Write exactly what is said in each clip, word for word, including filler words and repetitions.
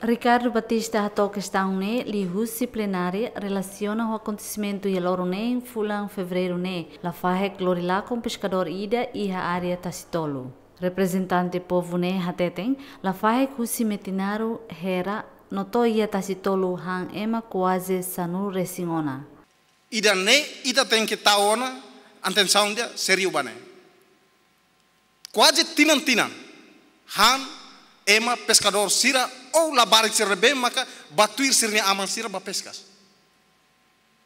Ricardo Batista hato'o kestaun ne'e liuhusi plenária relasiona ho akontesimentu iha loron neen fulan Fevereiru ne'e, lafahe lori lakon peskadór ida iha área Tasitolu. Reprezentante povu ne'e hateten, lafahe husi Metinaro, Hera, no to'o iha Tasitolu han ema kuaze sanulu resin ona. Ida-ne'e ita tenke tau ona atensaun ida sériu ba ne'e. Kuaze tinan-tinan han ema peskadór sira ou labarik sira ne'ebé maka bá tuir sira-nia aman sira bá peskas.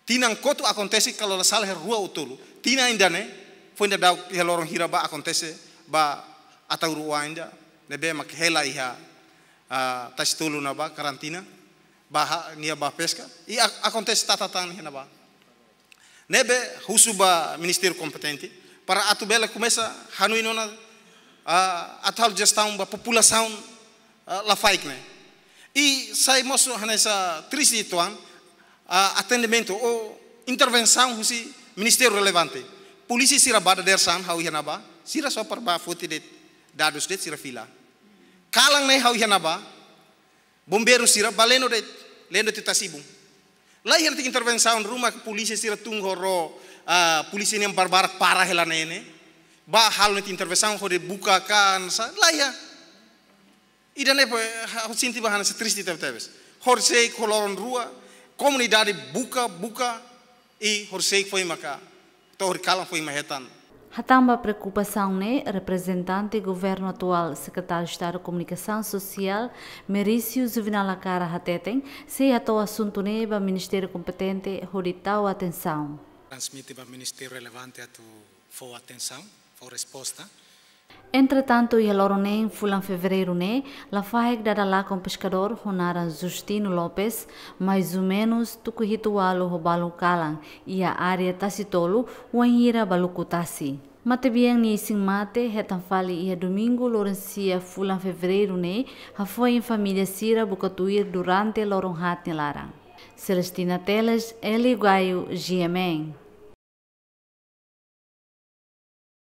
Tinan kotuk akontese, kalau la sala, iha rua ou tolu. Tinan ida-ne'e foin dadauk iha loron hira bá akontese ba Ataúru Oan ida ne'ebé mak hela iha, ah, Tasitolu ne'ebá karantina, bá ha-, nia bá peska. I a-, akontese tata tan iha ne'ebá. Ne'ebé husu ba ministériu kompetente para atu bele komesa hanoin ona, ah, atu halo jestaun ba populasaun, ah, lafaek ne'e. I sai mós hanesan triste uitoan, ah, atendimentu ou intervensaun husi ministériu relevante. Polísia sira bá dadeer-saan ha'u iha ne'ebá, sira só para bá foti de'it dadus de'it, sira fila. Kalan ne'e ha'u iha ne'ebá, bombeiru sira bá leno de'it, leno de'it tasi-ibun. Laiha de'it intervensaun ruma, polísia sira tun ho ró, ah, polísia nian barbarak para hela ne'e ne'e. Bá halo de'it intervensaun hodi buka ka hanesan, laiha. Ida-ne'e poi, ha'u sente ba hanesan triste tebetebes. Horisehik ho loron rua, komunidade buka, buka, i horisehik foin maka, to'o horikalan foin mak hetan. Hatán ba preokupasaun ne'e, reprezentante governu atuál, Sekretáriu Estadu Komunikasaun Sosiál, Merício Juvenal Lacara hateten, sei hato'o asuntu ne'e ba ministériu kompetente hodi tau atensaun. Transmite ba ministériu relevante atu fó atensaun, fó resposta. Entretantu, iha loron neen fulan Fevereiru ne'e, lafahe dada lakon peskadór ho naran Justino Lopes, mais ou menus tuku hitu ualu ho balun kalan, iha área Tasitolu, wainhira bá luku tasi. Matebian nia isin-mate hetan fali iha Domingu loron sia fulan Fevereiru ne'e, hafoin família sira buka tuir durante loron haat nia laran. Celestina Teles, Hélio Gaio, G M N.